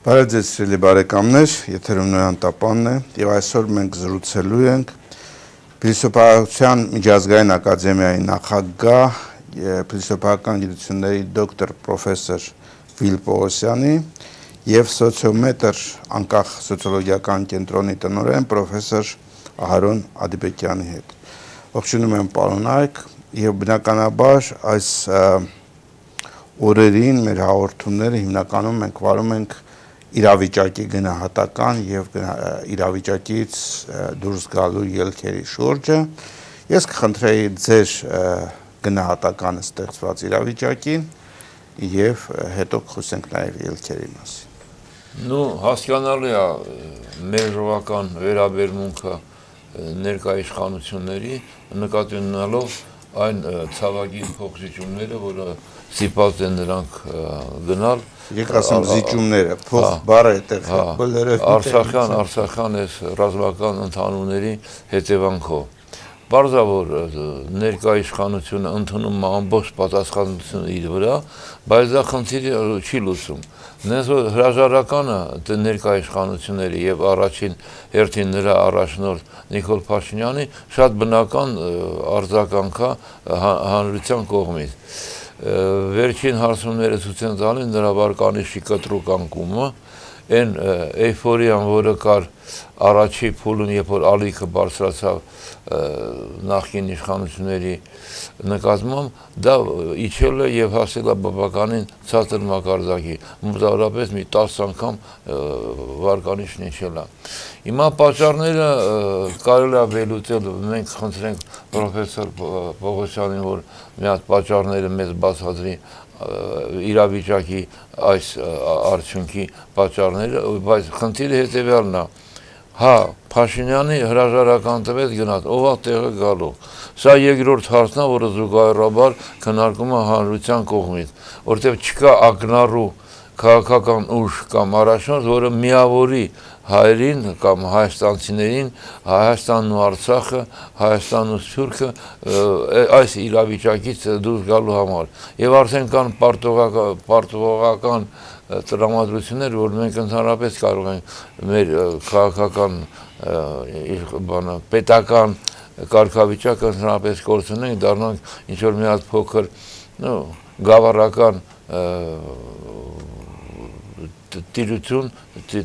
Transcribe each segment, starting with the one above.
Բարև ձեզ սիրելի բարեկամներ, եթերում Նոյան Տապանն է, եւ այսօր մենք զրուցելու ենք Փիլիսոփայության միջազգային ակադեմիայի նախագահ, փիլիսոփայական գիտությունների դոկտոր պրոֆեսոր Վիլ Պողոսյանի եւ սոցիոմետր անկախ սոցիոլոգիական կենտրոնի տնօրեն պրոֆեսոր Ահարոն Ադիբեկյանի հետ։ Ողջունում եմ պարոնայք եւ բնականաբար այս օրերին մեր հաղորդումները հիմնականում մենք վարում ենք իրավիճակի գնահատական եւ իրավիճակից դուրս գալու ելքերի շուրջը։ Ես կխնդրեի ձեր գնահատականը ստեղծված իրավիճակին եւ հետո խոսենք նաեւ ելքերի մասին։ Ну, հասկանալի է մեր ժողովական վերաբերմունքը ներկա իշխանությունների նկատի ունենալով այն ցավագին փոխզիջումները, որը ստիպված են նրանք գնալ Եկեք ասեմ զիջումները, փող բառը այդտեղ բոլորը Արցախյան այս ռազմական ընդհանումների հետևանքով։ Պարզ է, որ ներկա իշխանությունը ընդունում է ամբողջ պատասխանատվությունը իր վրա, բայց դա խնդիրը չի լուծում։ Նենց որ հրաժարականը ներկա իշխանությունների եւ առաջին հերթին նրա առաջնորդ Նիկոլ Փաշինյանի շատ բնական արձագանք է հանրության կողմից։ Վերջին հարցումները ցույց են տալիս նրա վարկանիշի կտրուկ անկումը, այն էյֆորիան, որը կար առաջի փուլում, երբ որ ալիքը բարձրացավ նախկին իշխանությունների նկատմամբ, դա իջել է եւ հասել է բավականին ցածր մակարդակի, մոտավորապես մի 10 անգամ վարկանիշն իջել է։ Հիմա պատճառները կարելի է վերլուծել, մենք խնդրենք պրոֆեսոր Պողոսյանին, որ մի հատ պատճառները մեզ բացատրի իրավիճակի այս արդյունքի պատճառները, բայց խնդիրը հետեւյալն է։ Հա, Փաշինյանի հրաժարական տվեց գնաց, ով է տեղը գալու։ Սա երկրորդ հարցն է, որը զուգահեռաբար քննարկում է հանրության կողմից, որտեղ չկա ակնառու քաղաքական ուժ կամ առաջնորդ, որը միավորի հայերին կամ հայաստանցիներին, Հայաստանն ու Արցախը, Հայաստանն ու Սփյուռքը այս իրավիճակից դուրս գալու համար։ Եվ արդեն կան պարտավորական տրամադրություններ, որ մենք ընդհանրապես կարող ենք մեր քաղաքական պետական կարգավիճակը ընդհանրապես կորցնենք, դառնանք ինչ-որ մի հատ փոքր գավառական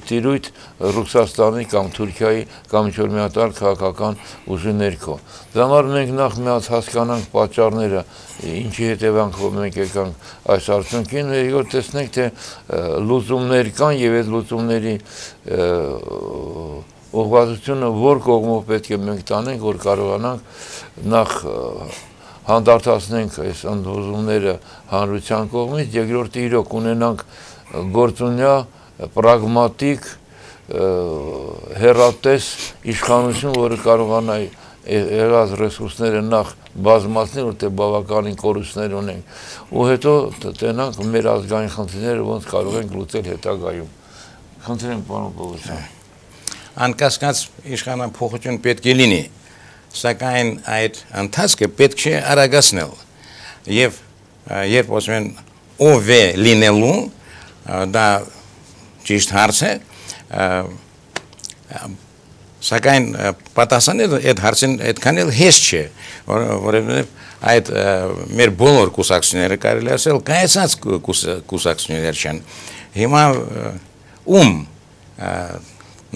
տիրույթ Ռուսաստանի կամ Թուրքիայի կամ ինչ-որ մի հատ այլ քաղաքական ուժի ներքո։ Դրա համար մենք նախ մի հատ հասկանանք պատճառները, ինչի հետևանքով մենք եկանք այս արդյունքին, երկրորդ տեսնենք, թե լուծումներ կան եւ այդ լուծումների ուղղվածությունը որ կողմով պետք է մենք տանենք, որ կարողանանք նախ հանդարտացնենք այս ընդվզումները հանրության կողմից, երկրորդը իրոք ունենանք գործունյա, պրագմատիկ, հեռատես իշխանություն, որը կարողանա եղած ռեսուրսները նախ բազմացնել, որտեղ բավականին կորուստներ ունենք, ու հետո տենանք մեր ազգային խնդիրները, ոնց կարող ենք լուծել հետագայում։ Խնդրեմ, պարոն Պողոսյան։ Անկասկած իշխանափոխություն պետք է լինի, սակայն այդ ընթացքը պետք չէ արագացնել։ Եվ երբ ասում են ով է լինելու, դա ճիշտ հարց է, սակայն պատասխանել այդ հարցին այդքան էլ հեշտ չէ, որովհետև այդ մեր բոլոր կուսակցությունները կարելի ասել կայացած կուսակցություններ չեն։ Հիմա ում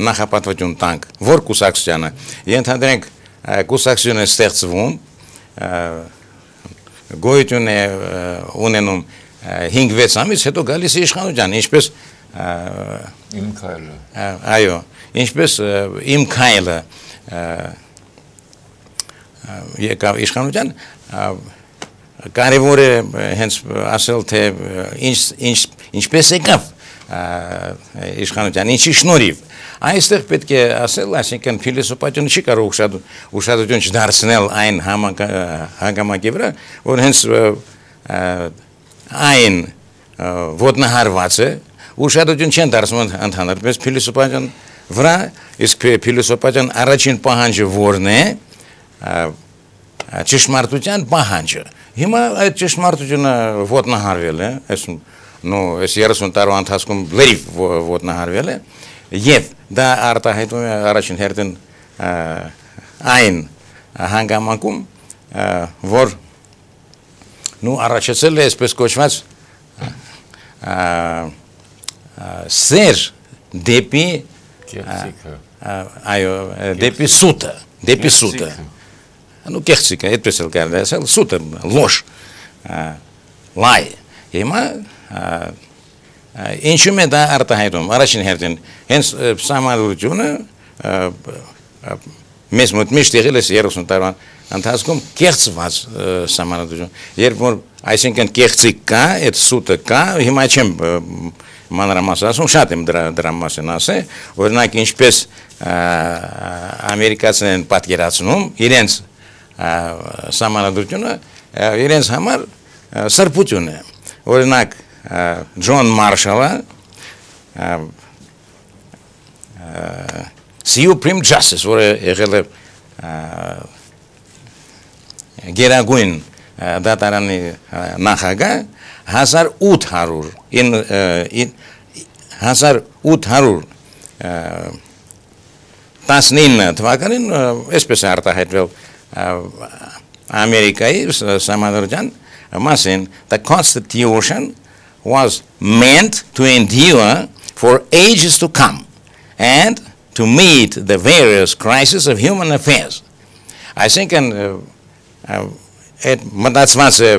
նախապատվություն տանք, որ կուսակցությանը, ենթադրենք կուսակցությունը ստեղծվում, գոյություն է ունենում 5-6 ամիս, հետո գալիս է իշխանության, ինչպես իմ քայլը։ Այո, ինչպես իմ քայլը եկավ իշխանության, կարևոր է հենց ասել, թե ինչպես եկավ իշխանության, ինչի շնորհիվ։ Այստեղ պետք է ասել, այսինքն փիլիսոփայությունը չի կարող ուշադրություն չդարձնել այն հանգամանքի վրա, որ հենց այն ոտնահարված է, ուշադրություն չեն դարձնում ընդհանրապես փիլիսոփայության վրա, իսկ փիլիսոփայության առաջին պահանջը որն է, ճշմարտության պահանջը։ Հիմա այդ ճշմարտությունը ոտնահարվել է, այսինքն այս 30 տարվա ընթացքում լրիվ ոտնահարվել է եւ դա արտահայտում է առաջին հերթին այն հանգամանքում որ առաջացել է այսպես կոչված սեր դեպի այո դեպի սուտը կեղծիք է այդպես էլ կարելի է ասել սուտը լոշ լայ հիմա ինչու՞ է դա արտահայտում առաջին հերթին հենց սահմանադրությունը մեզ մոտ միշտ եղել է 30 տարվա ընթացքում կեղծված սահմանադրություն երբ որ այսինքն կեղծիք կա այդ սուտը կա հիմա չեմ մանրամասն ասում շատ եմ դրա մասին ասել օրինակ ինչպես ամերիկացիներն պատկերացնում իրենց սահմանադրությունը իրենց համար սրբություն է օրինակ Ջոն Մարշալը Supreme Justice որը եղել է գերագույն դատարանի նախագահ 1819 թվականին այսպես է արտահայտվել Ամերիկայի սահմանադրության մասին the Constitution was meant to endure for ages to come and to meet the various crises of human affairs. I think մտածված է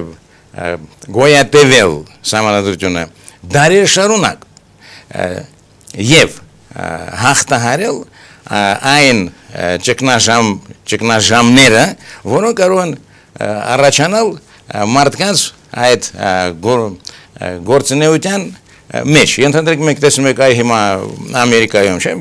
գոյատևել սահմանադրությունը դարեր շարունակ եւ հաղթահարել այն ճգնաժամները որոնք կարող են առաջանալ մարդկանց այդ գործունեության մեջ ենթադրենք մենք տեսնում ենք այ հիմա ամերիկայում չէ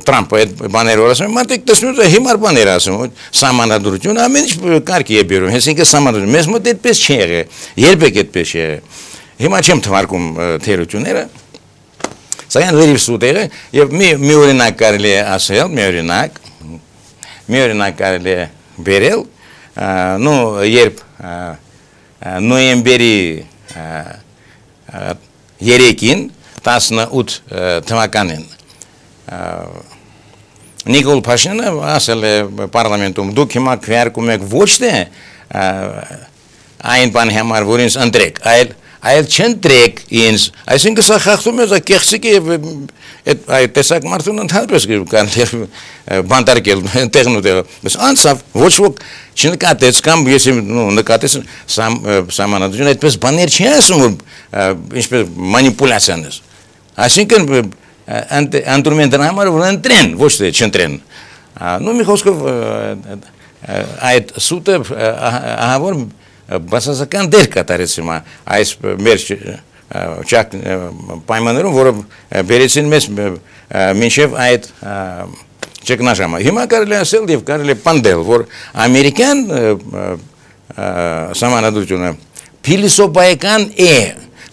Trump այդ բաները ասում մարդիկ տեսնում են հիմար բաներ ասում սահմանադրություն ամեն ինչ կարգի է բերում հենց ինքը սահմանադրություն մեզ մոտ այդպես չի եղել երբեք այդպես չի եղել հիմա չեմ թվարկում թերությունները սակայն լրիվ սուտ է եւ մի օրինակ կարելի է ասել մի օրինակ կարելի է բերել երբ նոյեմբերի 3-ին 18 թվականին Նիկոլ Փաշինյանը ասել է պարլամենտում դուք հիմա քվեարկում եք ոչ թե այն բանի համար որ ինձ ընտրեք այլ չընտրեք ինձ այսինքն սա խախտում է կեղծիք եւ այդ տեսակ մարդուն ընդհանրապես բանտարկել տեղն ու տեղը բայց անցավ ոչ ոք չնկատեց կամ ես նկատեց սահմանադրությունը այդպես բաներ չի ասում որ ինչպես մանիպուլյացիաներ այսինքն ընտրում են դրա համար որ ընտրեն ոչ թե չընտրեն մի խոսքով այդ սուտը ահավոր բացասական դեր կատարեց հիմա այս մեր պայմաններում որը բերեցին մեզ մինչև այդ ճգնաժամը հիմա կարելի ասել եւ կարելի պնդել որ ամերիկյան սահմանադրությունը փիլիսոփայական է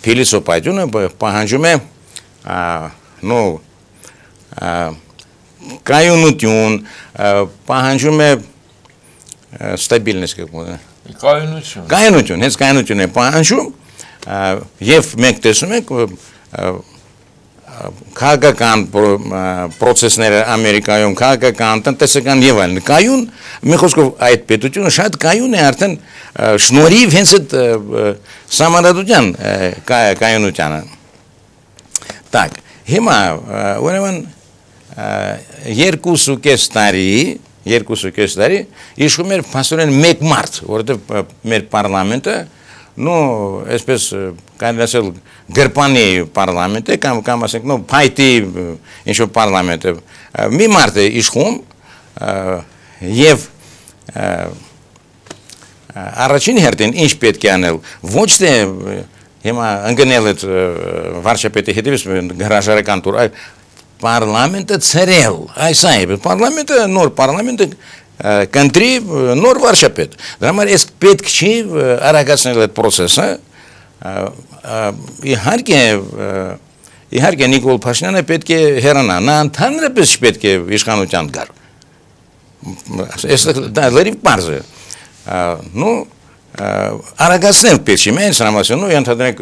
փիլիսոփայությունը պահանջում է կայունություն պահանջում է ստաբիլնես կայունություն հենց կայունություն է պահանջում եւ մենք տեսնում ենք քաղաքական process-ները Ամերիկայում քաղաքական տնտեսական եւ այլն կայուն մի խոսքով այդ պետությունը շատ կայուն է արդեն շնորհիվ հենց այդ սահմանադրության կայունությանը так հիմա ուրեմն 2.5 տարի իշխում էր փաստորեն մեկ մարդ որովհետեւ մեր պարլամենտը այսպես կարելի ասել գրպանի պարլամենտ է կամ ասենք փայտի ինչ-որ պարլամենտ է մի մարդ է իշխում եւ առաջին հերթին ինչ պետք է անել ոչ թե հիմա ընկնել այդ վարչապետի հետևից հրաժարական տուր այլ պարլամենտը ցրել այս է պարլամենտը նոր պարլամենտը կընտրի նոր վարչապետ դրա համար էս պետք չի արագացնել այդ process-ը իհարկե Նիկոլ Փաշինյանը պետք է հեռանա նա ընդհանրապես չպետք է իշխանության գար դա լրիվ պարզ է արագացնել պետք է մենք համասյուն ու ընդհանրենք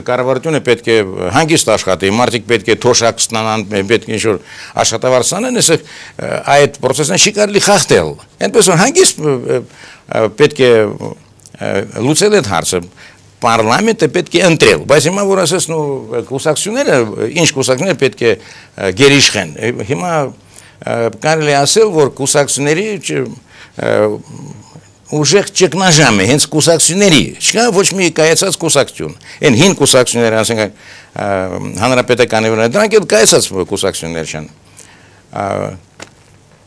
կառավարությունը պետք է հանգիստ աշխատի մարդիկ պետք է թոշակ ստանան պետք է ինչ-որ աշխատավարձ ստանան ասեք այդ process-ն չի կարելի խախտել այնպես որ հանգիստ պետք է լուծել այդ հարցը Պարլամենտը պետք է ընտրել, բայց հիմա որ ասես կուսակցությունները, ինչ կուսակցությունները պետք է գերիշխեն։ Հիմա կարելի ասել, որ կուսակցությունների ուժեղ ճգնաժամ է, հենց կուսակցությունների, չկա ոչ մի կայացած կուսակցություն։ Այն հին կուսակցությունները, ասենք հանրապետականի վրա, դրանք էլ կայացած կուսակցություններ չեն։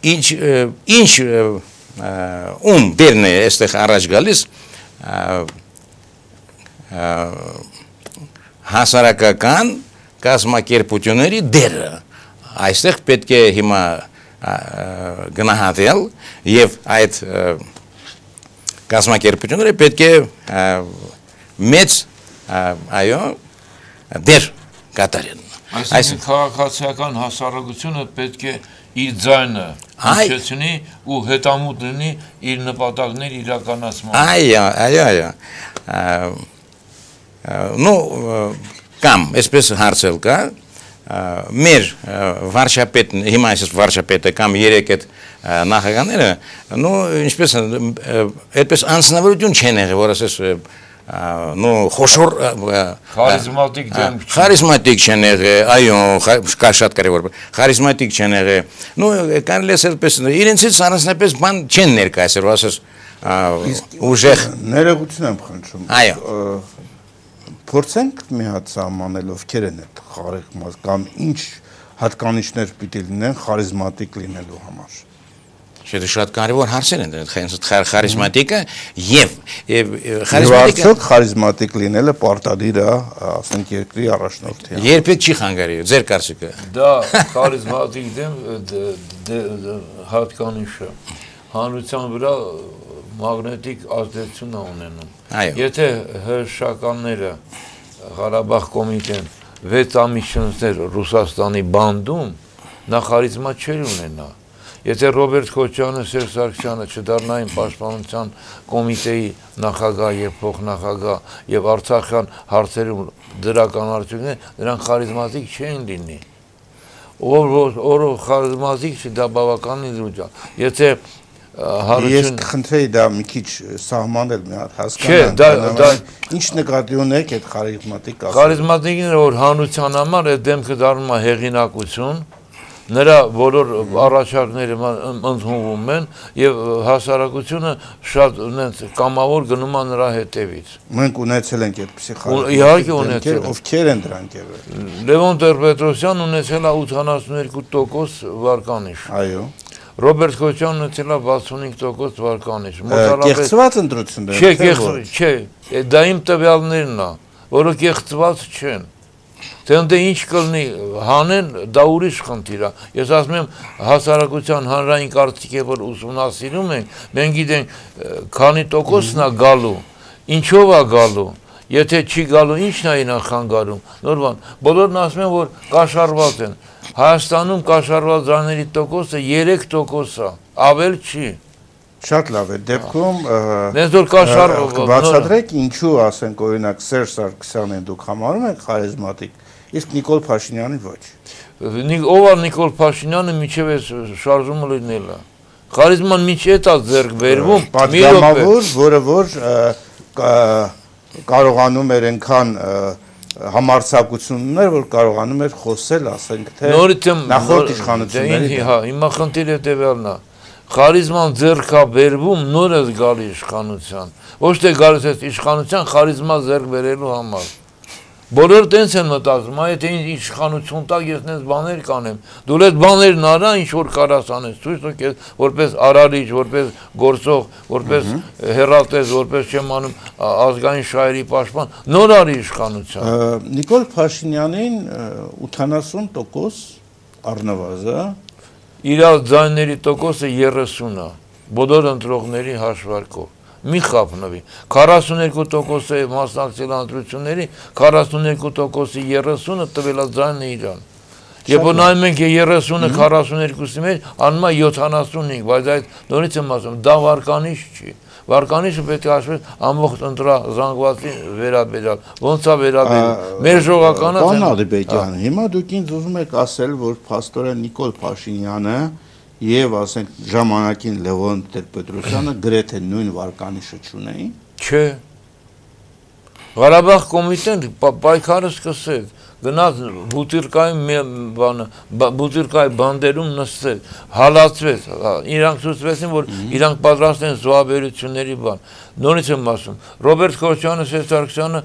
Ինչ բերն է այստեղ առաջ գալիս հասարակական կազմակերպությունների դերը այստեղ պետք է հիմա գնահատել եւ այդ կազմակերպությունները պետք է մեծ այո դեր կատարեն այսինքն քաղաքացիական հասարակությունը պետք է իր ձայնը հիշեցնի ու հետամուտ լինի իր նպատակների իրականացման այո Ну, կամ, այսպես հարցել կա, մեր վարչապետ, հիմա այսպես վարչապետը կամ երեք այդ նախագահները, ну, ինչպես, այդպես անձնավորություն չեն եղել, որ ասես, ну, խոշոր խարիզմատիկ չեն եղել, այո, կա շատ կարևոր, խարիզմատիկ չեն եղել, ну, կարելի է այսպես, իրենցից առանձնապես բան չեն ներկայացել, որ ասես, ուժեղ ներողություն եմ խնդրում։ Այո Փորձենք մի հատ սահմանել ովքեր են այդ խարիզմատ կամ ինչ հատկանիշներ պիտի լինեն խարիզմատիկ լինելու համար։ Չէ, շատ կարևոր հարցեր են այդ խարիզմատիկը եւ խարիզմատիկ խարիզմատիկ լինելը պարտադիր է, ասենք երկրի առաջնորդի։ Երբեք չի խանգարի, ձեր կարծիքը։ Դա խարիզմատիկ հատկանիշը հանրության վրա մագնետիկ ազդեցություն ունենում։ Եթե հրշականները Ղարաբաղ կոմիտեն 6 ամիս շնչներ Ռուսաստանի բանդում, նա խարիզմա չէր ունենա։ Եթե Ռոբերտ Քոչյանը, Սերժ Սարգսյանը չդառնային պաշտպանության կոմիտեի նախագահ եւ փոխնախագահ եւ Արցախյան հարցերում դրական արդյունքներ, նրանք խարիզմատիկ չէին լինի։ Որ խարիզմատիկ չի, դա բավականին զուտ է։ Եթե Ես կխնդրեի դա մի քիչ սահմանել մի հատ հասկանալ։ Ինչ նկատի ունեք այդ խարիզմատիկ ասել։ Խարիզմատիկները որ հանրության համար այդ դեմքը դառնում է հեղինակություն, նրա բոլոր առաջարկները ընդունվում են եւ հասարակությունը շատ կամավոր գնում է նրա հետևից։ Մենք ունեցել ենք այդպիսի խարիզմատիկ։ Իհարկե ունեցել ենք։ Ովքեր են դրանք եղել։ Լևոն Տեր-Պետրոսյանն ունեցել է 82% վարկանիշ։ Այո։ Ռոբերտ Քոչյանն ունեցել է 65% վարկանիշ։ Կեղծված ընտրություններ։ Չէ, դա իմ տվյալներն է, որը կեղծված չեն։ Թե ինչ կլինի հանեն, դա ուրիշ խնդիր է։ Ես ասում եմ հասարակության հանրային կարծիքը որ ուսումնասիրում ենք, մենք գիտենք քանի տոկոսն է գալու, ինչով է գալու, եթե չի գալու ինչն է իրան խանգարում։ Նոր բան, բոլորն ասում են որ կաշառված են։ Հայաստանում կաշառված ձայների տոկոսը 3% է, ավել չի։ Շատ լավ է, դեպքում բացատրեք ինչու ասենք օրինակ Սերժ Սարգսյանին դուք համարում եք խարիզմատիկ, իսկ Նիկոլ Փաշինյանին ոչ։ Ով է Նիկոլ Փաշինյանը միջև է շարժումը լինել է։ Խարիզման միջև է ձեռք բերվում, պատգամավոր, որը որ կարողանում էր այնքան համարձակություններ, որ կարողանում էր խոսել, ասենք թե նախորդ իշխանությունների։ Հիմա խնդիրը հետևյալն է։ Խարիզման ձեռք է բերվում նոր է գալի իշխանության։ Ոչ թե գալիս է իշխանության խարիզմա ձեռք բերելու համար։ Բոլորը տենց են մտածում, եթե իշխանություն տակ ես նենց բաներ կանեմ, դու այդ բաներն արա, ինչ որ կարաս անես, ցույց տուր քեզ որպես արարիչ, որպես գործող, որպես հեռատես, որպես չեմ անում ազգային շահերի պաշտպան, նոր արի իշխանության։ Նիկոլ Փաշինյանին 80% առնվազն իր ձայների տոկոսը 30 է, բոլոր ընտրողների հաշվարկով։ Մի խափնվի, 42% է մասնակցել ընտրությունների, 42%-ի 30-ը տվել է ձայնը իրան։ Երբ որ նայում ենք 30-ը 42-ի մեջ, անում է 75, բայց այդ նորից եմ ասում, դա վարկանիշ չի։ Վարկանիշը պետք է հաշվես ամբողջ ընտրազանգվածի վերաբերյալ, ոնց է վերաբերում։ Մեր ժողականը Պարոն Ալիբեկյան, հիմա դուք ինձ ուզում եք ասել, որ փաստորեն Նիկոլ Փաշինյանը եւ ասենք ժամանակին Լևոն Տեր-Պետրոսյանը գրեթե նույն վարկանիշը չունեին։ Չէ։ Ղարաբաղ կոմիտեն պայքարը սկսեց, գնաց Բուտիրկայի բանդերում նստեց, հալածվեց, իրանք ցույցվեցին, որ իրանք պատրաստ են զոհաբերությունների բան։ Նորից եմ ասում, Ռոբերտ Քոչարյանը, Սերժ Սարգսյանը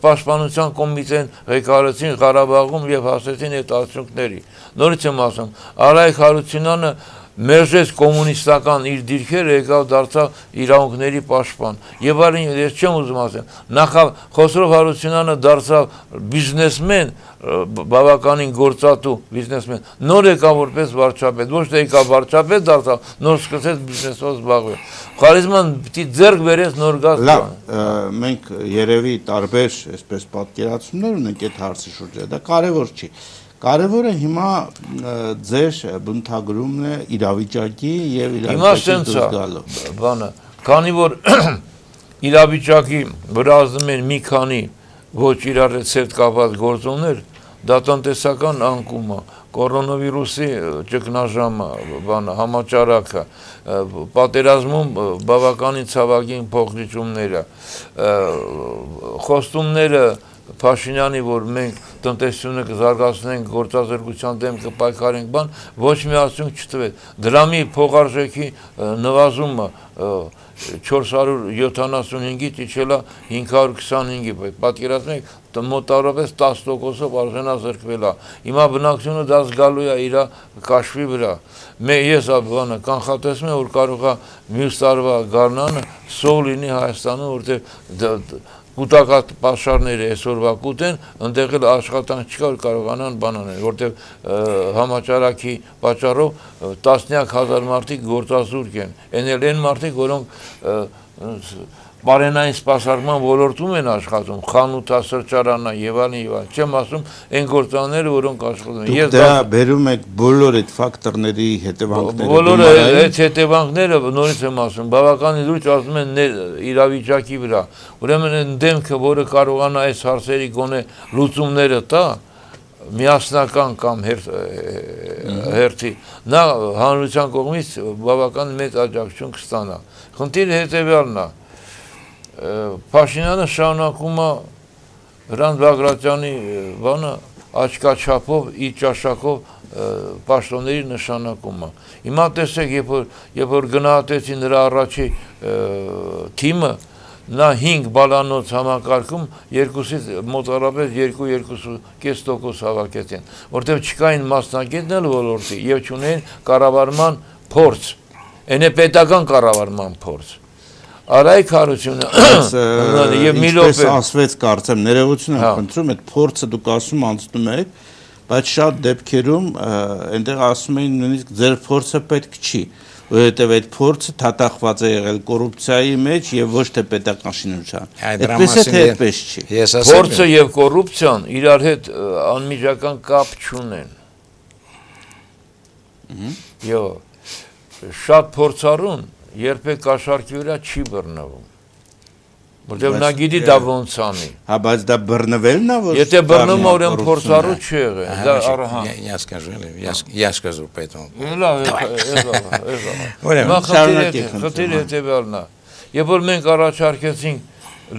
պաշտպանության կոմիտեն ղեկավարեցին Ղարաբաղում եւ հասեցին այդ արդյունքների։ Նորից եմ ասում, Արայք Հարությունյանը մերժեց կոմունիստական իր դիրքերը, եկավ դարձավ իրավունքների պաշտպան։ Եվ այլն, ես չեմ ուզում ասեմ, նախավ Խոսրով Հարությունյանը դարձավ բիզնեսմեն, բավականին գործատու բիզնեսմեն, նոր եկավ որպես վարչապետ, ոչ թե եկավ վարչապետ դարձավ, նոր սկսեց բիզնեսով զբաղվել։ Խարիզման պիտի ձեռք բերեց նոր գազ։ Լավ, մենք երևի տարբեր այսպես պատկերացումներ ունենք այդ հարցի շուրջ, դա կարևոր չի։ Կարևորը հիմա ձեր բնութագրումն է իրավիճակի եւ իրավիճակի դուրս գալու։ Բանը, քանի որ իրավիճակի վրա ազդում են մի քանի ոչ իրար հետ կապված գործոններ, դա տնտեսական անկումը, կորոնավիրուսի ճգնաժամը, համաճարակը, պատերազմում բավականին ցավագին փոխզիջումները, խոստումները Փաշինյանի, որ մենք տնտեսությունը կզարգացնենք, գործազրկության դեմ կպայքարենք, բան, ոչ մի արդյունք չտվեց։ Դրամի փոխարժեքի նվազումը 475-ից իջել է 525-ի, պատկերացնեք, մոտավորապես 10%-ով արժանազրկվել է։ Հիմա բնակչությունը դա զգալու է իր կաշվի վրա։ Ես կանխատեսում եմ, որ կարող է մյուս տարվա գարնանը սով լինի Հայաստանում, որտեղ կուտակած պաշարները այսօրվա կուտեն, ընդեղ էլ աշխատանք չկա, որ կարողանան բան անել, որտեղ համաճարակի պատճառով տասնյակ հազար մարդիկ գործազուրկ են, այն մարդիկ, որոնք բարենային սպասարկման ոլորտում են աշխատում, խանութա, սրճարանա եւ այլն, չեմ ասում այն գործարանները, որոնք աշխատում են։ Դուք դա բերում եք բոլոր այդ ֆակտորների հետևանքները։ Բոլորը այդ հետևանքները, նորից եմ ասում, բավականին լուրջ ազդում են իրավիճակի վրա։ Ուրեմն այն դեմքը, որը կարողանա այս հարցերի գոնե լուծումները տա, միասնական կամ հերթի, նա հանրության կողմից բավական մեծ աջակցություն կստանա։ Խնդիրը հետևյալն է։ Փաշինյանը շարունակում է Հրանտ Բագրատյանի բանը աչքաչափով, իր ճաշակով պաշտոնների նշանակումը։ Հիմա տեսեք, երբ որ գնահատեցի նրա առաջի թիմը, նա 5 բալանոց համակարգում երկուսից մոտավորապես 2-2.5% հավաքեցին, որտեղ չկային մասնագետներ ոլորտի եւ չունեն կառավարման փորձ, այն է պետական կառավարման փորձ։ Արայք Հարությունը եւ ինչպես ասվեց, կարծեմ, ներողություն եմ խնդրում, այդ փորձը դուք ասում անցնում եք, բայց շատ դեպքերում այնտեղ ասում էին նույնիսկ ձեր փորձը պետք չի, որովհետև այդ փորձը թաթախված է եղել կոռուպցիայի մեջ եւ ոչ թե պետական շինության։ Այդպես է թե այդպես չի։ Փորձը եւ կոռուպցիան իրար հետ անմիջական կապ չունեն։ Եվ շատ փորձառուն երբեք կաշառքի վրա չի բռնվում, որտեղ նա գիտի դա ոնց անի։ Հա, բայց դա բռնվելն է, որ եթե բռնում ուրեմն փորձառու չի եղել։ Я скажу поэтому. Խնդիրը հետևյալն է։ Երբ որ մենք առաջարկեցինք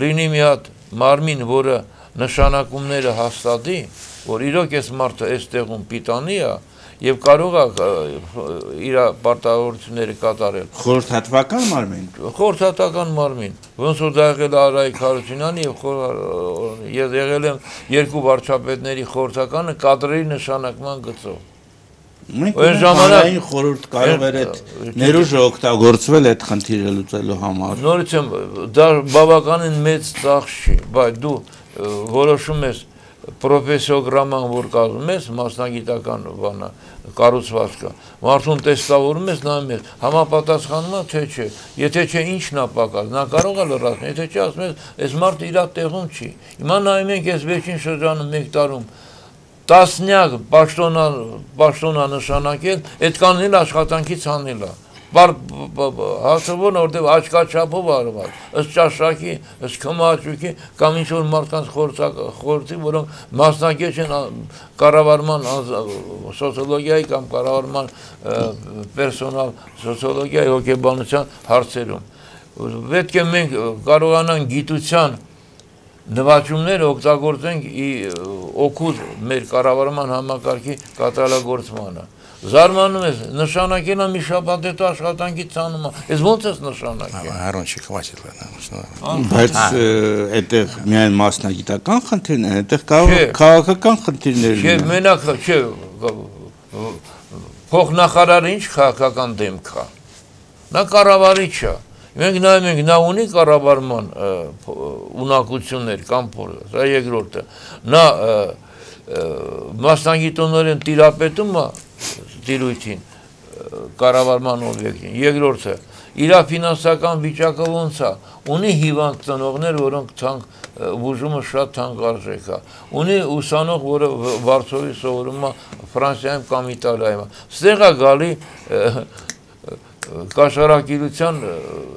լինի մի հատ մարմին, որը նշանակումները հաստատի, որ իրոք այս մարդը այս տեղում պիտանի է, եւ կարող է իր պարտավորությունները կատարել։ Խորհրդատվական մարմին։ Խորհրդատական մարմին, ոնց որ դա եղել է Արայք Հարությունյանի եւ եղել են երկու վարչապետների խորհրդականը կադրերի նշանակման գծով։ Մենք ժամանակային խորհուրդ կարող էր այդ ներուժը օգտագործվել այդ խնդիրը լուծելու համար։ Նորից եմ, դա բավականին մեծ ծախս չի, բայց դու որոշում ես պրոֆեսիոգրաման, որ կազմում ես, մասնագիտական բանը, կառուցվածքը, մարդուն տեստավորում ես, նայում ես, համապատասխանում է, թե չէ, եթե չէ, ինչն է պակաս, նա կարող է լրացնել, եթե չէ, ասում ես, այս մարդը իր տեղում չի։ Հիմա նայում ենք այս վերջին շրջանում 1 տարում տասնյակ պաշտոնա նշանակել, այդ կանել աշխատանքից անել է։ Հասցվոն որտեղ աչքաչափով արված, ըստ ճաշակի, ըստ քմաճուկի կամ ինչ որ մարդկանց խորհրդի, որոնք մասնակից են կառավարման սոցիոլոգիայի կամ կառավարման պերսոնալ սոցիոլոգիայի հոգեբանության հարցերում։ Պետք է մենք կարողանանք գիտության նվաճումները օգտագործենք օգուտ մեր կառավարման համակարգի կատարելագործմանը։ Զարմանում ես, նշանակել է մի շաբաթ հետո աշխատանքի ցանումը։ Ես ո՞նց ես նշանակել։ Հարոնչի խմացել է։ Բայց այդտեղ միայն մասնագիտական խնդիրներ են, այդտեղ կարող քաղաքական խնդիրներ լինեն։ Չէ, մենակ չէ, փոխնախարարը ինչ քաղաքական դեմք է։ Նա կառավարիչ է։ Մենք նայում ենք, նա ունի կառավարման ունակություններ կամ փորձ, սա երկրորդը։ Նա մասնագիտորեն տիրապետում է տիրույթին, կառավարման օբյեկտին։ Երկրորդը, իր ֆինանսական վիճակը ոնց է, ունի հիվանդ ծնողներ, որոնք բուժումը շատ թանկարժեք է, ունի ուսանող, որը Վարշավի սովորում է Ֆրանսիայում կամ Իտալիայում։ Ստեղ է գալի կաշառակիրության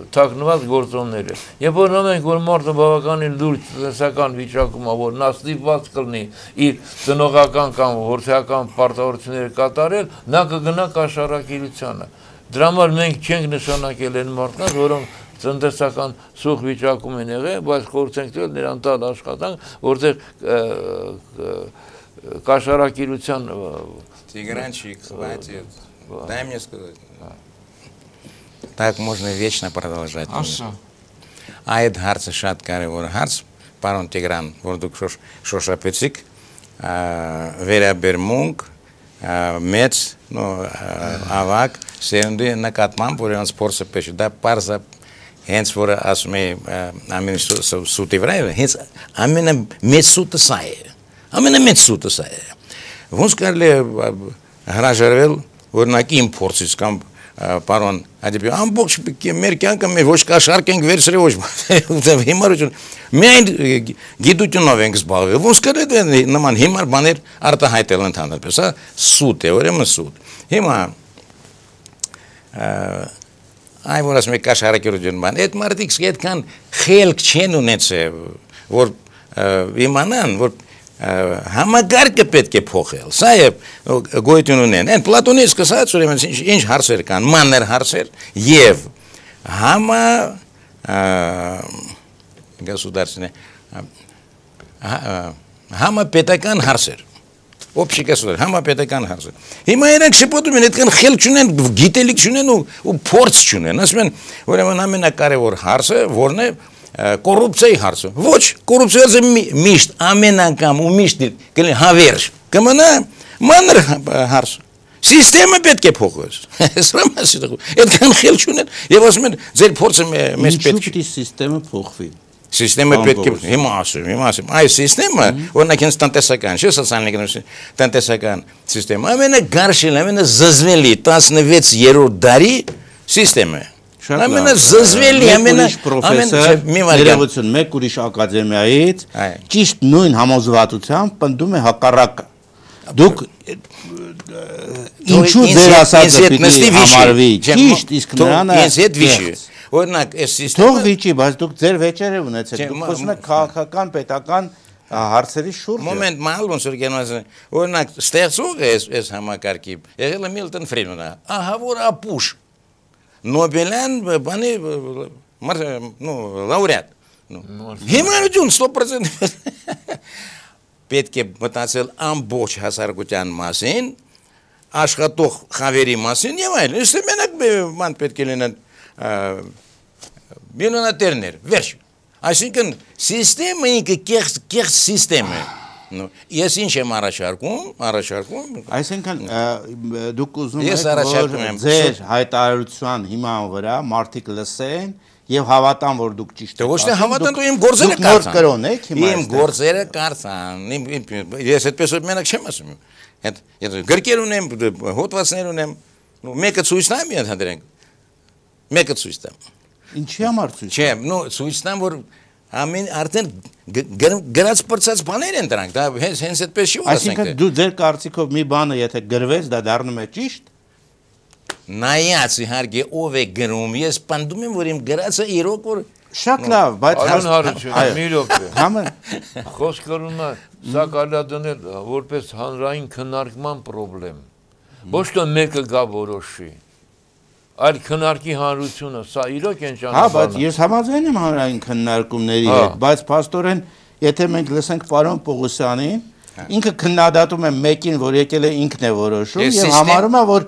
թաքնված գործոնները։ Երբ որ նայենք, որ մարդը բավականին լուրջ տնտեսական վիճակում է, որ նա ստիպված կլինի իր ծնողական կամ որդեական պարտավորությունները կատարել, նա կգնա կաշառակիրությանը։ Դրա համար մենք չենք նշանակել այն մարդկանց, որոնք տնտեսական սուղ վիճակում են եղել, բայց խորհուրդ ենք տվել նրան տալ աշխատանք, որտեղ կաշառակիրության Тигранчик, хватит. Дай мне сказать. Так можно вечно продолжать. Այդ հարցը շատ կարևոր հարց, պարոն Տիգրան, որ դուք շոշափեցիք, վերաբերմունք մեծ ավակ սերնդի նկատմամբ, որ նրանց փորձը պետք է դա պարզա հենց որ ասում է ամեն սուտի վրա, հենց ամենամեծ սուտը սա է, ամենամեծ սուտը սա է։ Ոնց կարելի է հրաժարվել օրինակ իմ փորձից կամ պարոն Ադիբյան, ամբողջ մեր կյանքը մեր ոչ կաշառք ենք վերցրել ոչ հիմարություն, միայն գիտությունով ենք զբաղվել, ոնց կարելի է նման հիմար բաներ արտահայտել ընդհանրապես, սուտ է, ուրեմն սուտ։ Հիմա այ որ ասում եք կաշառակիրություն բան, այդ մարդիկ այդքան խելք չեն ունեցել, որ իմանան, որ համագարկը պետք է փոխել, սա է գոյություն ունեն, են Պլատոնից սկսած ուրեմն ինչ հարցեր կան, մանր հարցեր և համապետական հարցեր, общий գասուդար, համապետական հարցեր։ Հիմա իրենք շփոթում են, այդքան խելք չունեն, գիտելիք չունեն ու փորձ չունեն, ասում են, ուրեմն ամենակարևոր հարցը որն է կոռուպցիայի հարցը։ Ոչ, կոռուպցիա միշտ ամեն անգամ ու միշտ կլինի հավերժ, կմնա մանր հարց։ Սիստեմը պետք է փոխվի։ Սա մասի դու։ Այդքան խելք չունեն եւ ասում են ձեր փորձը մեզ պետք է սիստեմը փոխվի։ Սիստեմը պետք է հիմա ասում։ Այս սիստեմը օրինակ հենց տնտեսական, չէ՞ սոցիալ տնտեսական սիստեմը ամենագարշել, ամենազզվելի 16-րդ դարի սիստեմը։ Ամենազզվելի, պրոֆեսոր ներողություն, մեկ ուրիշ ակադեմիայից ճիշտ նույն համոզվածությամբ պնդում է հակառակը։ Դուք ինչու ձեր ասածը պիտի համարվի ճիշտ, իսկ նրանը ինձ հետ վիճի։ Օրինակ, այս սիստեմը թող վիճի, բայց դուք ձեր վեճերը ունեցեք, դուք խոսում եք քաղաքական, պետական հարցերի շուրջ։ Մոմենտ մալ ոնց որ գնաց, օրինակ, ստեղծող է այս համակարգի, եղել է Միլտոն Ֆրիդմանը, ահա որ ապուշ Նոբելյան բանի լաուրեատ հիմարություն 100% պետք է մտածել ամբողջ հասարակության մասին, աշխատող խավերի մասին եւ այլն։ Իսկ մենակ ման պետք է լինեն միլիոնատերներ, վերջ։ Այսինքն սիստեմը ինքը կեղծ սիստեմ է։ Ես ինչ եմ առաջարկում։ Այսինքն դուք ուզում եք, որ ձեր հայտարարության հիման վրա մարդիկ լսեն եւ հավատան, որ դուք ճիշտ եք։ Ոչ թե հավատան, դու իմ գործերը կարծան։ Իմ գործերը կարծան։ Ես այդպես որ մենակ չեմ ասում։ Այդ գրքեր ունեմ, հոդվածներ ունեմ։ Մեկը ցույց տամ ընդհանրենք։ Մեկը ցույց տամ։ Ինչի համար ցույց։ Չէ, ցույց տամ, որ ամեն արդեն գրած պրծած բաներ են դրանք, դա հենց այդպես չի ասենք։ Այսինքն դու ձեր կարծիքով մի բանը եթե գրվեց, դա դառնում է ճիշտ։ նայած իհարկե ով է գրում, ես պնդում եմ, որ իմ գրածը իրոք որ Շատ լավ, բայց Արոն Հարությունյանը մի րոպե։ Համը Խոսք կրում է սա կարելի է դնել որպես հանրային քննարկման խնդրեմ։ Ոչ թե մեկը գա որոշի։ Այլ քննարկի հանրությունը, սա իրոք են Հա, բայց ճանապարհը։ ես համաձայն եմ հանրային քննարկումների հետ, բայց փաստորեն, եթե մենք լսենք պարոն Պողոսյանին, ինքը քննադատում է մեկին, որ եկել է ինքն է որոշում եւ համարում է, որ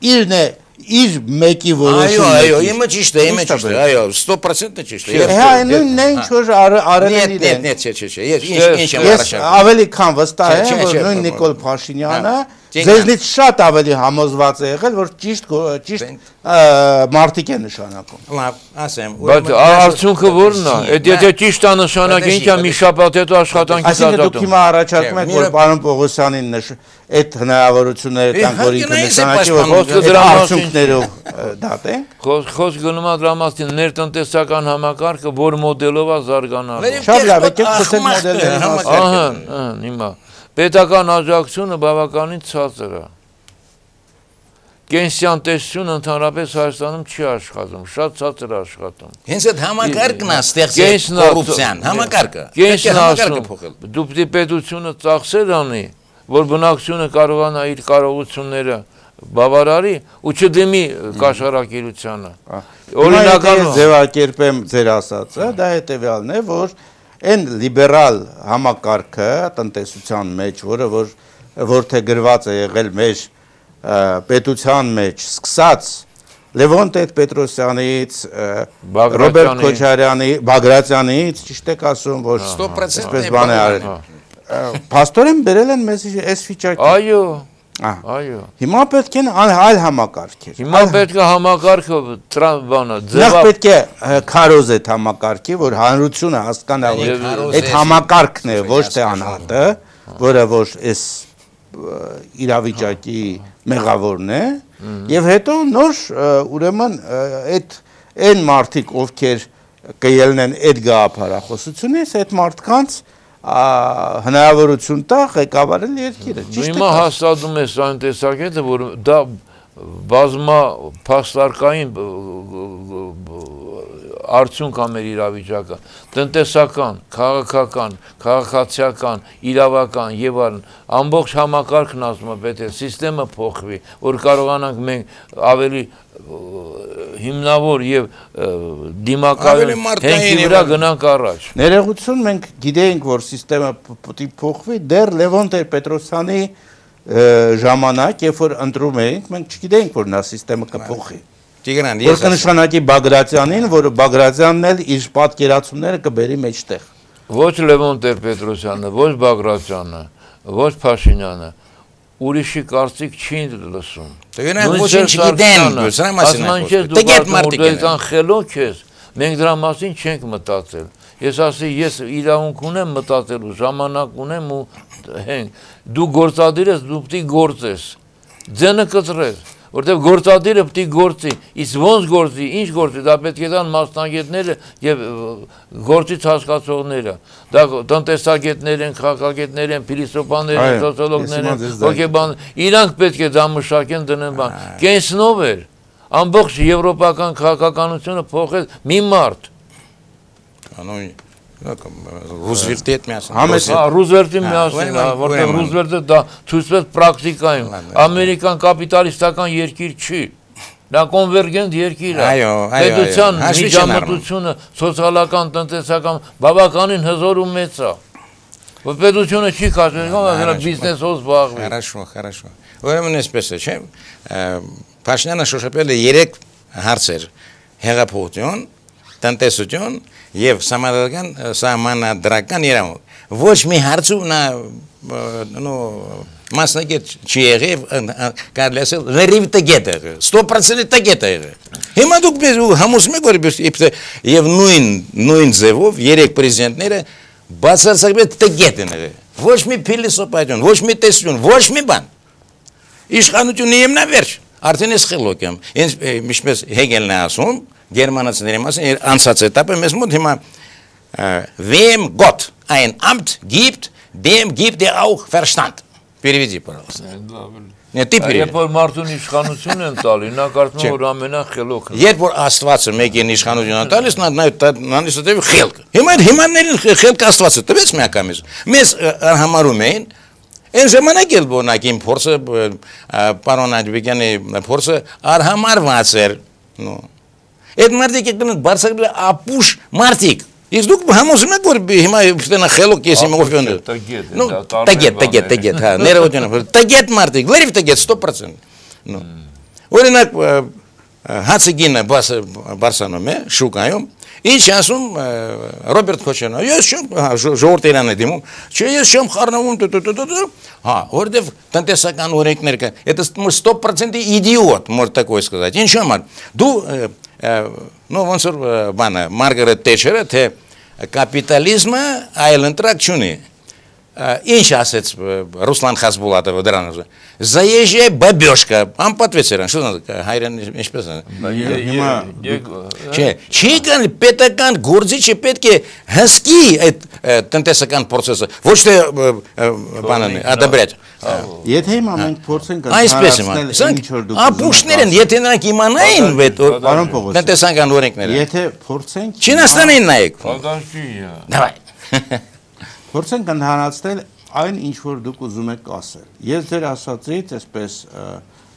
իրն է իր մեկի որոշումը։ Այո, իմը ճիշտ է, 100% ճիշտ է։ Հա, նույնն է ինչ որ արել են իրեն։ Ինչ եմ Ես ավելի քան վստահ եմ, որ նույն Նիկոլ Փաշինյանը ձեզնից շատ ավելի համոզված է եղել, որ ճիշտ մարդիկ է նշանակում։ Լավ, ասեմ։ Բայց արդյունքը ո՞րն է։ Այդ եթե ճիշտ է նշանակը, ինչա մի շաբաթ հետո աշխատանքից Այսինքն դուք հիմա առաջարկում եք, որ պարոն Պողոսյանին այդ հնարավորությունները տանք, որ ինքը նշանակի, որ արդյունքներով դատենք։ Խոսք գնում է դրա ներտնտեսական համակարգը, որ մոդելով է զարգանալու։ Շատ լավ, եկեք խոսենք մոդելների մասին։ Ահա, հիմա պետական աջակցությունը բավականին ցածր է։ Կենսիան տեսությունը ընդհանրապես Հայաստանում չի աշխատում, շատ ցածր է աշխատում։ Հենց այդ համակարգն է ստեղծել կոռուպցիան, համակարգը։ Կենսն ասում, դու պետք է պետությունը ծախսեր անի, որ բնակչությունը կարողանա իր կարողությունները բավարարի ու չդիմի կաշառակերությանը։ Օրինական ձևակերպեմ ձեր ասածը, դա հետևյալն է, որ այն լիբերալ համակարգը տնտեսության մեջ, որ թե գրված է եղել մեր պետության մեջ, սկսած Լևոն Տեր-Պետրոսյանից, Ռոբերտ Քոչարյանի, Բագրատյանից, ճիշտ եք ասում, որ 100% այսպես բան է արել։ Փաստորեն բերել են մեզ այս վիճակի։ Այո, այո։ Հիմա պետք է այլ համակարգեր։ Հիմա պետք է համակարգը բանը Նախ պետք է քարոզ այդ համակարգի, որ հանրությունը հասկանա, որ այդ համակարգն է, ոչ թե անհատը, որը որ այս իրավիճակի մեղավորն է, եւ հետո նոր ուրեմն այն մարդիկ, ովքեր կելնեն այդ գաղափարախոսությունից, այդ մարդկանց հնարավորություն տա ղեկավարել երկիրը։ Հիմա հաստատում է այն տեսակետը, որ դա բազմա փաստարկային արդյունք ամեր իրավիճակը, տնտեսական, քաղաքական, քաղաքացիական, իրավական եւ այլն, ամբողջ համակարգն ասում է պետք է սիստեմը փոխվի, որ կարողանանք մենք ավելի հիմնավոր եւ դիմակայուն հենքի վրա գնանք առաջ։ Ներողություն, մենք գիտեինք, որ սիստեմը պետք է փոխվի, դեռ Լևոն Տեր-Պետրոսյանի ժամանակ, երբ որ ընտրում էինք, մենք չգիտեինք, որ նա սիստեմը կփոխի։ Տիգրան, Որ կնշանակի Բագրատյանին, որը Բագրատյանն էլ իր պատկերացումները կբերի մեջտեղ։ Ոչ Լևոն Տեր-Պետրոսյանը, ոչ Բագրատյանը, ոչ Փաշինյանը, ուրիշի կարծիք չի լսում։ Տիգրան, ոչինչ չգիտեն, սրա մասին է։ Տգետ մարդիկ են խելոք ես, մենք դրա մասին չենք մտածել։ Ես ասի, ես իրավունք ունեմ մտածելու, ժամանակ ունեմ ու հենք, դու գործադիր ես, դու պետք է գործես, ձենը կծրես, որտեղ գործադիրը պետք է գործի, իսկ ոնց գործի, ինչ գործի, դա պետք է տան մասնագետները եւ գործից հասկացողները, դա տնտեսագետներ են, քաղաքագետներ են, փիլիսոփաներ են, սոցիոլոգներ են, հոգեբան, իրանք պետք է դա մշակեն դնեն բան, կենսնով էր, ամբողջ եվրոպական քաղաքականությունը փոխեց մի մարդ։ Ռուզվելտի հետ միասին։ Ռուզվելտի միասին, որտեղ Ռուզվելտը դա ցույցվեց պրակտիկայում։ Ամերիկան կապիտալիստական երկիր չի։ Դա կոնվերգենտ երկիր է։ Պետության միջամտությունը սոցիալական, տնտեսական բավականին հզոր ու մեծ է։ Որ պետությունը չի կազմում, այլ բիզնեսով զբաղվի։ Хорошо։ Ուրեմն այսպես է, չէ՞։ Փաշինյանը շոշափել է 3 հարցեր՝ հեղափոխություն, տնտեսություն եւ սահմանադրական իրավունք։ Ոչ մի հարցում նա մասնագետ չի եղել, կարելի ասել, լրիվ տգետ է եղել, 100% տգետ է եղել։ Հիմա դուք համոզում եք, որ եւ նույն ձևով 3 պրեզիդենտները բացարձակապես տգետ են եղել։ Ոչ մի փիլիսոփայություն, ոչ մի տեսություն, ոչ մի բան։ Իշխանությունը իմնավերջ, արդեն ես խելոք եմ։ Ինչպես Հեգելն է ասում, Գերմանացիների մասին անցած էտապը մեզ մոտ հիմա wem Gott ein Amt gibt, dem gibt er auch Verstand. Переведи, пожалуйста. Երբ որ մարդուն իշխանություն են տալի, նա կարծում է, որ ամենախելոքն է։ Երբ որ Աստվածը մեկին իշխանություն է տալիս, նա նստել խելք։ Հիմա հիմարներին խելք Աստվածը տվեց միակամից։ Մեզ համարում էին այն ժամանակ էլ բոնակին փորձը պարոն Աջբեկյանի փորձը արհամարված էր։ Այդ մարդիկ եկան բարձրացնել ապուշ մարդիկ։ Իսկ դուք համոզում եք որ հիմա ուստենա խելոք ես իմ օֆյոն։ Տագետ, հա, ներողություն։ Տագետ մարդիկ, լրիվ տագետ 100%։ Օրինակ հացը գինը բարսանում է շուկայում։ Ինչ ասում Ռոբերտ Քոչարյանը, ես չեմ ժողովրդերան եմ դիմում, չէ ես չեմ խառնվում, հա, որտեվ տնտեսական օրենքներ կան, это 100% идиот, может такое сказать, ինչ համար, դու, ну, ոնց որ բանը, Մարգարետ Թետչերը, թե կապիտալիզմը այլ ընտրակ չունի, ինչ ասեց Ռուսլան Խասբուլատովը դրանով, заезжая бабёшка, անպատվեց երան, что надо, հայրեն ինչպես է, չի կան պետական գործիչը պետք է հսկի այդ տնտեսական պրոցեսը, ոչ թե բանան է, ադաբրյաց։ Եթե հիմա մենք փորձենք ընդհանրացնել ինչ-որ դուք ապուշներ են, եթե նրանք իմանային տնտեսական օրենքները, եթե փորձենք Չինաստանին նայեք։ Փորձենք ընդհանրացնել այն ինչ որ դուք ուզում եք ասել։ Ես ձեր ասածից, այսպես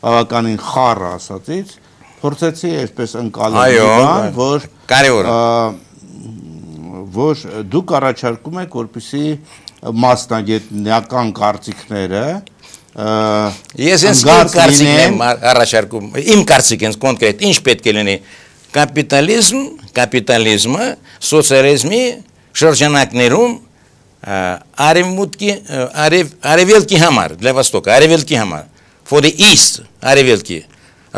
բավականին խառը ասածից, փորձեցի այսպես ընկալել, որ դուք առաջարկում եք, որպեսզի մասնագետնական կարծիքները Ես կարծիքն եմ առաջարկում, իմ կարծիքն կոնկրետ, ինչ պետք է լինի կապիտալիզմը սոցիալիզմի շրջանակներում արևելքի համար, для Востока, արևելքի համար, for the east, արևելքի,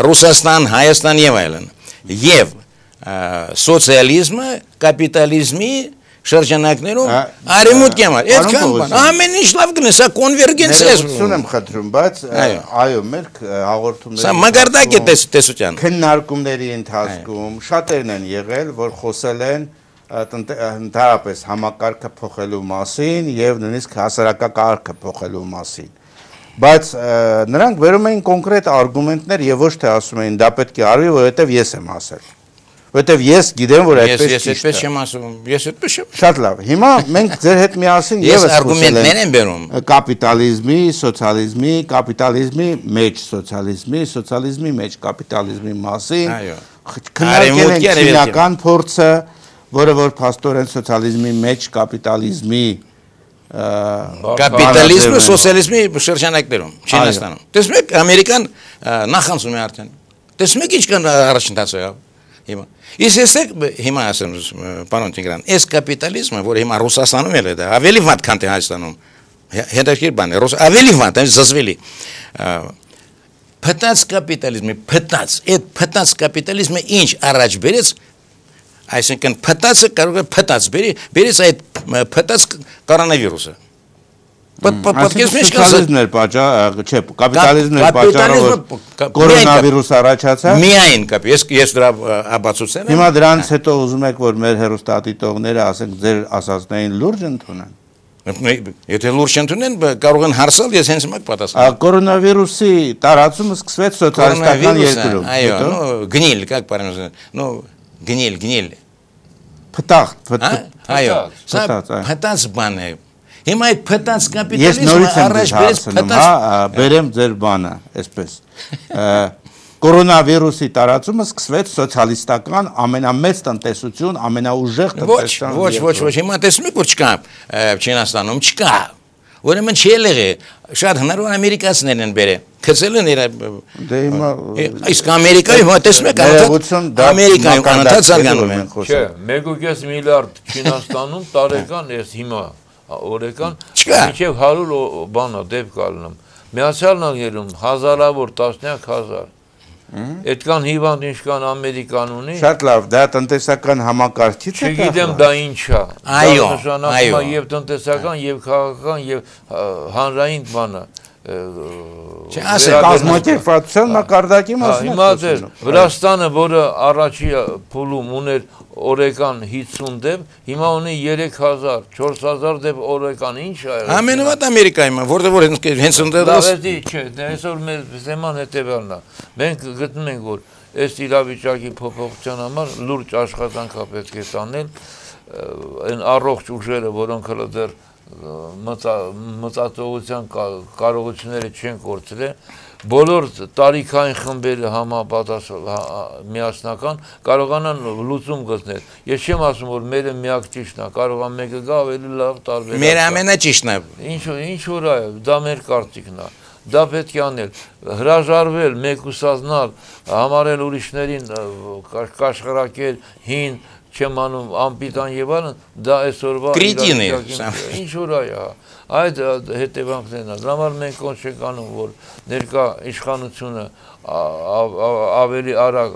Ռուսաստան, Հայաստան եւ այլն, եւ սոցիալիզմը կապիտալիզմի շրջանակներում արևմուտքի համար, այդքան բան, ամեն ինչ լավ գնա, սա կոնվերգենցիա է։ Ներողություն եմ խնդրում, բայց այո, մեր հաղորդումների Սա մագարտակ է տեսության։ Քննարկումների ընթացքում շատերն են եղել, որ խոսել են ընդհանրապես համակարգը փոխելու մասին եւ նույնիսկ հասարակակարգը փոխելու մասին բայց նրանք վերում էին կոնկրետ արգումենտներ եւ ոչ թե ասում էին դա պետք է արվի որովհետեւ ես եմ ասել որովհետեւ ես գիտեմ որ այդպես ես այդպես չեմ ասում ես այդպես չեմ շատ լավ հիմա մենք ձեր հետ միասին եւս արգումենտներ են բերում կապիտալիզմի սոցիալիզմի կապիտալիզմի մեջ սոցիալիզմի մեջ կապիտալիզմի մասին քննարկել են քիմիական փորձը որը որ փաստորեն սոցիալիզմի մեջ կապիտալիզմի կապիտալիզմը սոցիալիզմի շրջանակներում Չինաստանում տեսնում եք ամերիկան նախանցում է արդեն տեսնում եք ինչքան առաջընթաց եղավ հիմա իսկ հիմա ասեմ պարոն Տիգրան այս կապիտալիզմը որ հիմա Ռուսաստանում էլ է դա ավելի վատ քան թե Հայաստանում հետաքրքիր բան է ավելի վատ է զզվելի փտած կապիտալիզմի փտած կապիտալիզմը ինչ առաջ բերեց Այսինքն փտածը կարող է փտած բերից այդ փտած կորոնավիրուսը Պատկերացնում եք սոցիալիզմն էր պատճառը, չէ, կապիտալիզմն էր պատճառը, որ կորոնավիրուսը առաջացավ։ Միայն ես դրա ապացուցել եմ։ Հիմա դրանից հետո ուզում եք, որ մեր հեռուստադիտողները, ասենք, ձեր ասածներին լուրջ ընդունեն։ Եթե լուրջ ընդունեն, կարող են հարցալ, ես հենց մեկ պատասխան։ Կորոնավիրուսի տարածումը սկսվեց սոցիալիստական երկրում։ Այո, գնիլ, как правильно, ну, գնիլ։ Այո, սա փտած բան է։ Հիմա այդ փտած կապիտալիզմը առաջ բերեց փտած բերեմ ձեր բանը, այսպես։ Կորոնավիրուսի տարածումը սկսվեց սոցիալիստական ամենամեծ տնտեսություն, ամենաուժեղ տնտեսական։ Ոչ, հիմա տեսնում եք որ չկա Չինաստանում չկա։ Ուրեմն չի եղել, շատ հնարավոր ամերիկացիներն են բերել։ Քցել են Դե հիմա իսկ Ամերիկայում հիմա տեսնում եք Ամերիկայում անընդհատ զարգանում են։ Չէ, 1.5 միլիարդ Չինաստանում տարեկան ես հիմա օրեկան մինչև 100 բանա դեպք ալնում։ Միացյալ Նահանգներում հազարավոր տասնյակ հազար։ Այդքան հիվանդ ինչքան Ամերիկան ունի։ Շատ լավ, դա տնտեսական համակարգից է։ Չգիտեմ դա ինչ է։ Այո, եւ տնտեսական եւ քաղաքական եւ հանրային բանը։ կազմակերպվածության մակարդակի մասին հիմա դեր Վրաստանը, որը առաջի փուլում ուներ օրեկան 50 դեպ, հիմա ունի 3000, 4000 դեպ օրեկան, ինչ է եղել։ Ամենավատ Ամերիկայում, որտեղ հենց ընդդեմ չէ, այսօր մեր թեման հետևյալն է։ Մենք գտնում ենք, որ այս իրավիճակի փոփոխության համար լուրջ աշխատանք է պետք է տանել, այն առողջ ուժերը, որոնք հələ դեռ մտածողության կարողությունները չեն կորցրել, բոլոր տարիքային խմբերը միասնական կարողանան լուծում գտնել։ Ես չեմ ասում, որ մերը միակ ճիշտն է, կարող է մեկը գա ավելի լավ տարբեր։ Մեր ամենաճիշտն է։ Ինչ որ է, դա մեր կարծիքն է։ Դա պետք է անել, հրաժարվել, մեկուսանալ, համարել ուրիշներին կաշխարակել, հին, չեմ անում անպիտան եւ այլն, դա այսօրվա ինչ որ է, այդ հետևանքներն է։ Դրա համար մենք ոնց չենք անում, որ ներկա իշխանությունը ավելի արագ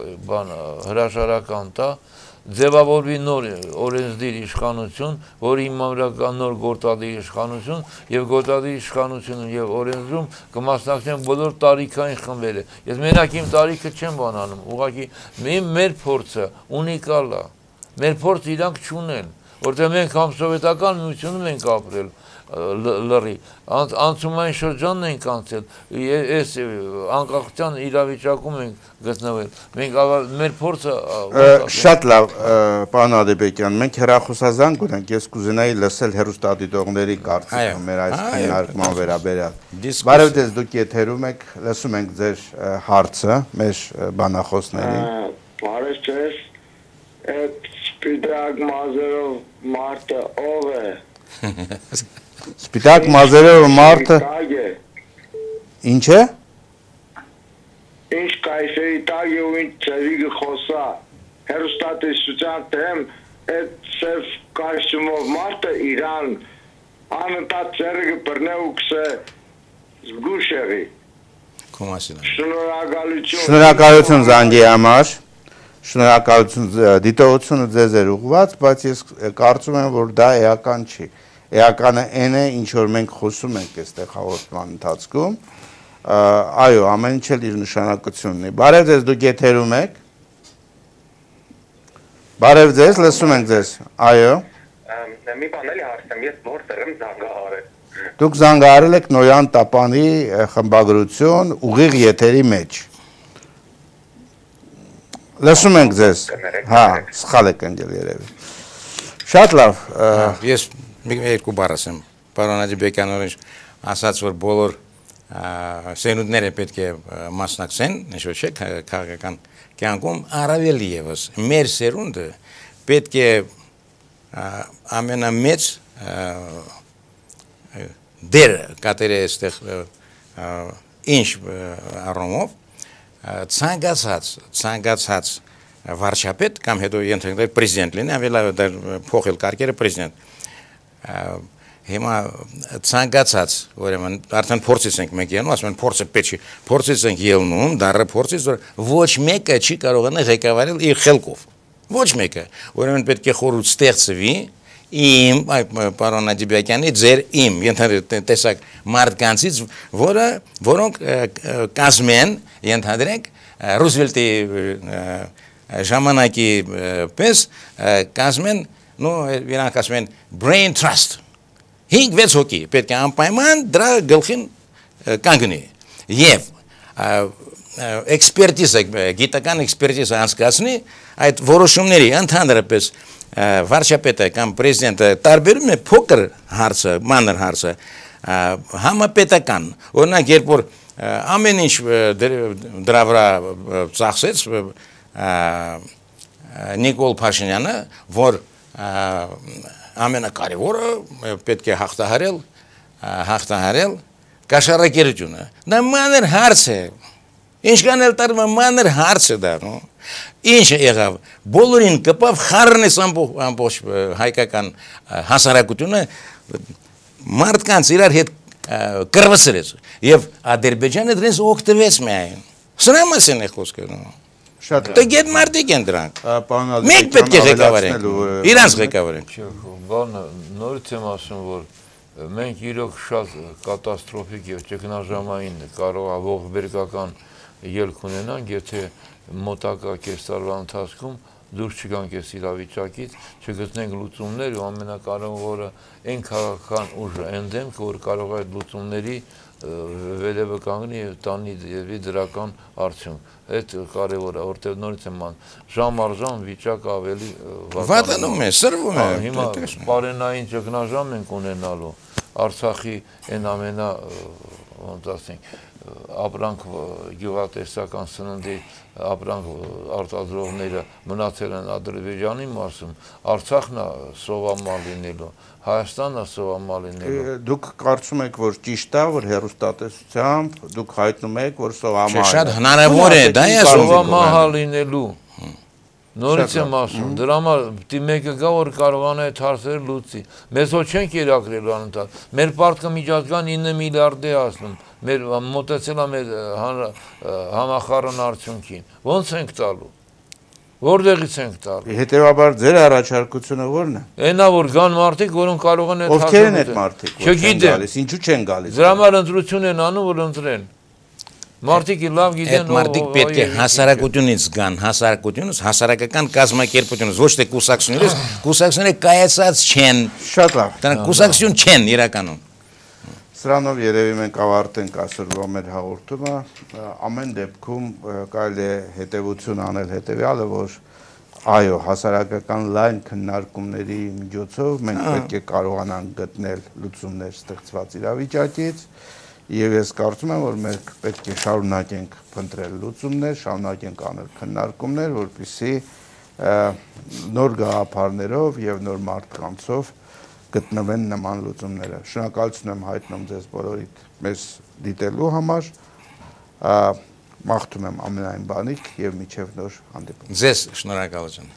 հրաժարական տա, ձևավորվի նոր օրենսդիր իշխանություն, որի հիմնական նոր գործադիր իշխանություն եւ գործադիր իշխանությունում եւ օրենսդրում կմասնակցեն բոլոր տարիքային խմբերը։ Ես մենակ իմ տարիքը չեմ բանանում, ուղղակի մեր փորձը ունիկալ է։ Մեր փորձը իրանք չունեն, որտեղ մենք համ սովետական միությունում ենք ապրել լրի, անցումային շրջանն ենք անցել, այս անկախության իրավիճակում ենք գտնվել, մենք մեր փորձը… Շատ լավ, պարոն Ադեբեկյան, մենք հեռախոսազանգ ունենք, ես կուզենայի լսել հեռուստադիտողների կարծիքը մեր այս քննարկման վերաբերյալ։ Բարև ձեզ, դուք եթերում եք, լսում ենք ձեր հարցը մեր բանախոսներին։ Բարև ձեզ, Սպիտակ մազերով մարդը ով է։ Սպիտակ մազերով մարդը ինչ է։ Ինչ կայսերի տակ է ու ինչ ծևի խոսա։ Հեռուստատեսության դեմ այդ ծև կայսումով մարդը իրան անընդհատ ծերը կբռնե ու կսե զգուշ եղի։ Շնորհակալություն զանգի համար։ Շնորհակալություն, դիտողությունը ձեզ էր ուղղված, բայց ես կարծում եմ, որ դա էական չի։ Էականը այն է, ինչ որ մենք խոսում ենք այստեղ հաղորդման ընթացքում, այո, ամեն ինչ էլ իր նշանակությունն ունի։ Բարև ձեզ, դուք եթերում եք։ Բարև ձեզ, լսում ենք ձեզ։ Այո։ Մի բան էլի հարցեմ, ես որտեղ եմ զանգահարել։ Դուք զանգահարել եք Նոյան Տապանի խմբագրություն ուղիղ եթերի մեջ։ Լսում ենք ձեզ, հա, սխալ եք ընկել երևի։ Շատ լավ։ Ես երկու բառ ասեմ, պարոն Ադեբեկյանն ասաց, որ բոլոր սերունդները պետք է մասնակցեն, ինչ-որ չէ, քաղաքական կյանքում առավել ևս մեր սերունդը պետք է ամենամեծ դեր կատարի այստեղ ինչ առումով ցանկացած վարչապետ կամ հետո ենթադրել պրեզիդենտ լինի, ավելի փոխել կարգերը պրեզիդենտ։ Հիմա ցանկացած, ուրեմն արդեն փորձից ենք մենք ելնում, ասում են փորձը պետք է, փորձից ենք ելնում, դառը փորձից, որ ոչ մեկը չի կարողանա ղեկավարել իր խելքով։ Ոչ մեկը, ուրեմն պետք է խորհուրդ ստեղծվի իմ պարոն Ադեբեկյանի ձեր իմ տեսակ մարդկանցից, որոնք կազմեն, ենթադրենք, Ռուզվելտի ժամանակի պես կազմեն, իրանք ասում են brain trust, 5-6 հոգի պետք է անպայման դրա գլխին կանգնի եւ էքսպերտիզը, գիտական էքսպերտիզը անցկացնի այդ որոշումների ընդհանրապես վարչապետը կամ պրեզիդենտը տարբերում է փոքր հարցը, մանր հարցը համապետական, օրինակ երբ որ ամեն ինչ դրա վրա ծախսեց Նիկոլ Փաշինյանը, որ ամենակարևորը պետք է հաղթահարել կաշառակերությունը, դա մանր հարց է, ինչքան էլ տարվում է մանր հարց է դա, ինչ եղավ, բոլորին կպավ խառնես ամբողջ հայկական հասարակությունը մարդկանց իրար հետ կրվսրեց եւ Ադրբեջանը դրանից օգտվեց միայն։ Սրա մասին է խոսքը։ Շատ Դե գետ մարդիկ են դրանք։ Մենք պետք է ղեկավարենք։ Իրանց ղեկավարենք։ Բանը նորից եմ ասում, որ մենք իրոք շատ կատաստրոֆիկ եւ ճգնաժամային կարող է ողբերգական ելք ունենանք, եթե մոտակա կես տարվա ընթացքում դուրս չգանք այս իրավիճակից, չգտնենք լուծումներ ու ամենակարևորը այն քաղաքական ուժը ընդդեմք, որ կարող է այդ լուծումների վերևը կանգնի եւ տանի դրական արդյունք։ Այդ կարևոր է, որտեղ նորից եմ ման ժամ առ ժամ վիճակը ավելի վատանում է, սրվում է։ Հիմա պարենային ճգնաժամ ենք ունենալու Արցախի այն ամենա ոնց ասենք ապրանք գյուղատեսական սննդի ապրանք արտադրողները մնացել են Ադրբեջանի մասում, Արցախն է սովամալ լինելու, Հայաստանն է սովամալ լինելու։ Դուք կարծում եք, որ ճիշտ է, որ հեռուստատեսությամբ դուք հայտնում եք, որ սովամալ է։ Շատ հնարավոր է, դա է սովամալ լինելու։ Նորից եմ ասում, դրա համար պիտի մեկը գա, որ կարողանա այդ հարցերը լուծի։ Մեզ հո չենք կերակրելու անընդհատ։ Մեր պարտքը միջազգան 9 միլիարդ է ասնում։ Մեր մոտեցել է մեր համախառն արդյունքին։ Ո՞նց ենք տալու։ Որտեղից ենք տալու։ Հետևաբար ձեր առաջարկությունը ո՞րն է։ Այնա որ գան մարդիկ, որոնք կարող են այդ Ովքեր են այդ մարդիկ, որ չեն չգիտեմ։ գալիս, ինչու չեն գալիս։ Դրա համար ընտրություն են անում, որ ընտրեն։ Մարդիկ լավ գիտեն, այդ մարդիկ պետք է հասարակությունից գան, հասարակությունից, հասարակական կազմակերպությունից, ոչ թե կուսակցությունից, կուսակցությունները կայացած չեն։ Շատ լավ։ Դրանք կուսակցություն չեն իրականում։ Սրանով երևի մենք ավարտենք այսօրվա մեր հաղորդումը, ամեն դեպքում կարելի է հետևություն անել հետևյալը, որ այո, հասարակական լայն քննարկումների միջոցով մենք պետք է կարողանանք գտնել լուծումներ ստեղծված իրավիճակից եւ ես կարծում եմ, որ մենք պետք է շարունակենք փնտրել լուծումներ, շարունակենք անել քննարկումներ, որպեսզի նոր գաղափարներով եւ նոր մարդկանցով գտնվեն նման լուծումները։ Շնորհակալություն եմ հայտնում ձեզ բոլորիդ մեզ դիտելու համար, մաղթում եմ ամենայն բանիկ եւ միջև նոր հանդիպում։ Ձեզ շնորհակալություն։